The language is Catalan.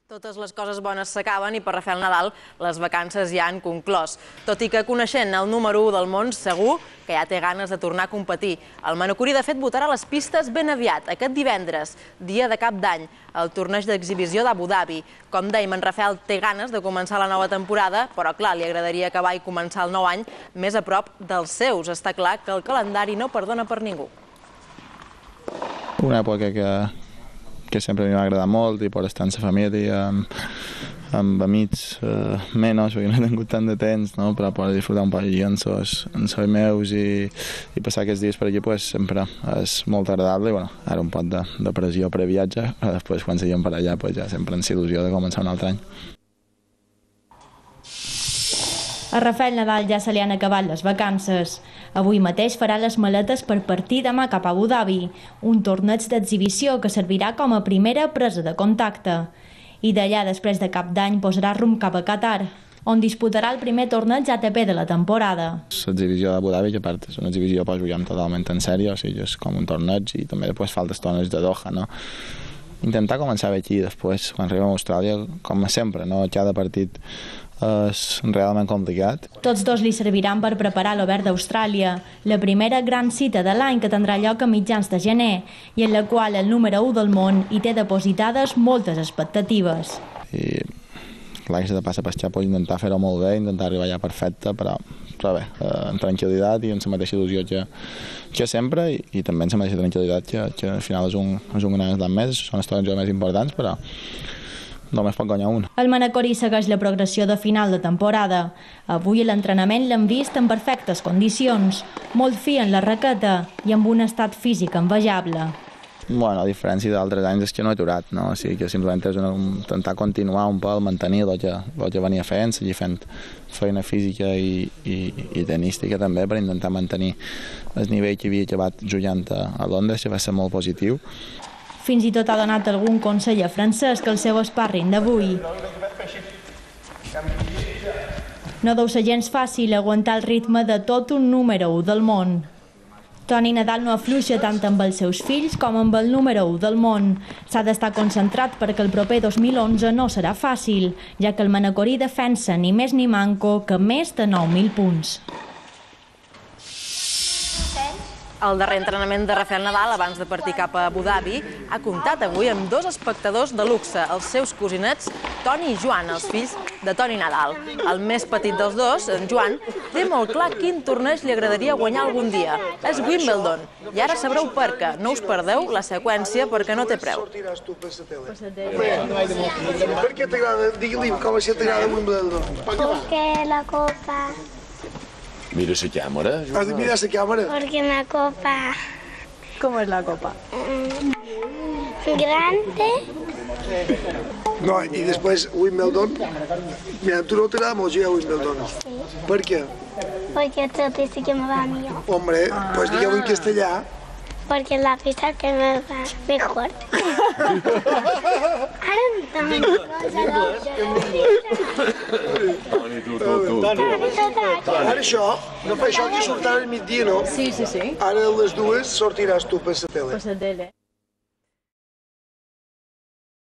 Totes les coses bones s'acaben i per Rafael Nadal les vacances ja han conclòs. Tot i que coneixent el número 1 del món, segur que ja té ganes de tornar a competir. El manacorí, de fet, votarà les pistes ben aviat, aquest divendres, dia de Cap d'Any, al torneig d'exhibició d'Abu Dhabi. Com dèiem, en Rafael té ganes de començar la nova temporada, però clar, li agradaria acabar i començar el nou any més a prop dels seus. Està clar que el calendari no perdona per ningú. Una època que sempre m'ha agradat molt i per estar amb la família, amb amics menys, perquè no he tingut tant de temps, no? Però per disfrutar un poc allí amb els meus i passar aquests dies per allí sempre és molt agradable. I bueno, ara un poc de pressió previatge, però després quan seguim per allà ja sempre ens il·lusió de començar un altre any. A Rafael Nadal ja se li han acabat les vacances. Avui mateix farà les maletes per partir demà cap a Abu Dhabi, un torneig d'exhibició que servirà com a primera presa de contacte. I d'allà, després de Cap d'Any, posarà rumb cap a Qatar, on disputarà el primer torneig ATP de la temporada. L'exhibició d'Abu Dhabi, que a part és una exhibició que juguem totalment en sèrio, o sigui, és com un torneig i també després fa els torneigs de Doha, no? Intentar començar bé aquí, després, quan arribem a Austràlia, com sempre, no? Cada partit és realment complicat. Tots dos li serviran per preparar l'Obert d'Austràlia, la primera gran cita de l'any que tindrà lloc a mitjans de gener i en la qual el número 1 del món hi té depositades moltes expectatives. I clar, que s'ha de passar per xapa, intentar fer-ho molt bé, intentar arribar allà perfecte, però bé, amb tranquil·litat i amb la mateixa il·lusió que sempre i també amb la mateixa tranquil·litat que al final és un gran estat més, són els tornejos més importants, però només pot guanyar un. El manacorí segueix la progressió de final de temporada. Avui a l'entrenament l'hem vist en perfectes condicions, molt fi en la raqueta i amb un estat físic envejable. Bueno, a diferència d'altres anys és que no he aturat, no? O sigui que simplement és intentar continuar un poc, mantenir el que venia fent, seguir fent feina física i tenística també per intentar mantenir el nivell que havia acabat jugant a Londres, que va ser molt positiu. Fins i tot ha donat algun consell a Francesc, el seu sparring d'avui. No deu ser gens fàcil aguantar el ritme de tot un número 1 del món. Toni Nadal no afluixa tant amb els seus fills com amb el número 1 del món. S'ha d'estar concentrat perquè el proper 2011 no serà fàcil, ja que el manacorí defensa ni més ni manco que més de 9.000 punts. El darrer entrenament de Rafael Nadal, abans de partir cap a Abu Dhabi, ha comptat avui amb dos espectadors de luxe, els seus cosinets Toni i Joan, els fills de Toni Nadal. El més petit dels dos, en Joan, té molt clar quin torneig li agradaria guanyar algun dia. És Wimbledon. I ara sabreu per què. No us perdeu la seqüència perquè no té preu. Per què t'agrada? Digue-li com si t'agrada Wimbledon. Porque la copa. Mira la càmera. Has de mirar la càmera. Porque la copa. ¿Cómo es la copa? Grande. No, i després Wimbledon. Mira, tu no t'agrada molt jugar a Wimbledon. Per què? Porque todo dice que me va mío. Hombre, pues digueu en castellà. Porque la pista que me va mejor. Ara això, no fa això que surt ara al migdia, no? Sí. Ara a les 2 sortiràs tu per la tele. Per la tele.